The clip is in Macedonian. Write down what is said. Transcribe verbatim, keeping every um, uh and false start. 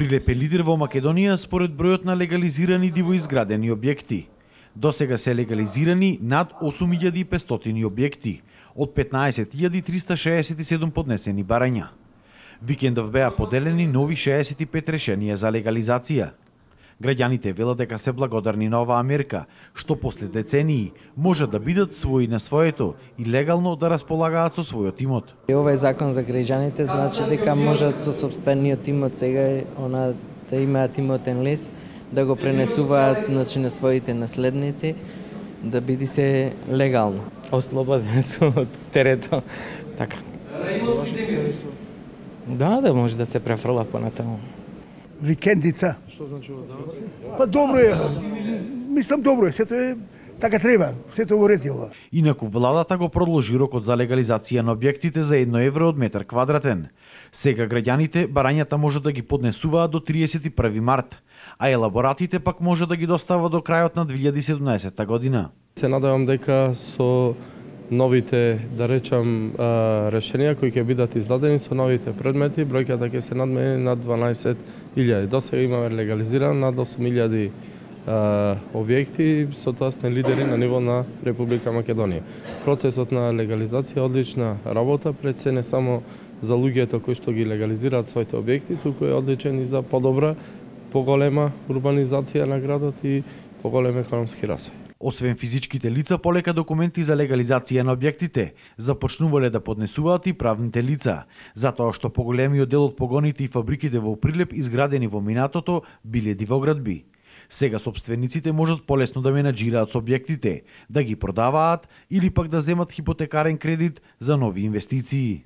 Прилеп е лидер во Македонија според бројот на легализирани дивоизградени објекти. До сега се легализирани над осум илјади и петстотини објекти, од петнаесет илјади триста шеесет и седум поднесени барања. Викендов беа поделени нови шеесет и пет решенија за легализација. Граѓаните велат дека се благодарни на оваа мерка, што после децении може да бидат своји на своето и легално да располагаат со својот имот. Овој закон за граѓаните значи дека можат со сопствениот имот сега она да имаат имотен лист, да го пренесуваат значи на своите наследници, да биде се легално. Ослободен сум од терето, така. Да, да може да се префрла понатаму. Викендица. Што значи ова за вас? Па добро е. Мислам добро е, сето е така треба, сето во ред е ова. Инаку владата го продолжи рокот за легализација на објектите за едно евро од метар квадратен. Сега граѓаните барањата може да ги поднесуваат до триесет и први март, а елаборатите пак може да ги достава до крајот на две илјади и седумнаесетта година. Се надевам дека со новите, да речам, решенија кои ќе бидат издадени со новите предмети, бројката ќе се надмени над дванаесет илјади. До сега имаме легализирано над осум илјади објекти, со тоа сме лидери на ниво на Република Македонија. Процесот на легализација е одлична работа, пред се не само за луѓето кои што ги легализираат своите објекти, туку е одличен и за подобра, поголема урбанизација на градот и поголем економски развој. Освен физичките лица, полека документи за легализација на објектите започнувале да поднесуваат и правните лица, затоа што поголемиот дел од погоните и фабриките во Прилеп изградени во минатото биле дивоградби. Сега сопствениците можат полесно да менаџираат со објектите, да ги продаваат или пак да земат хипотекарен кредит за нови инвестиции.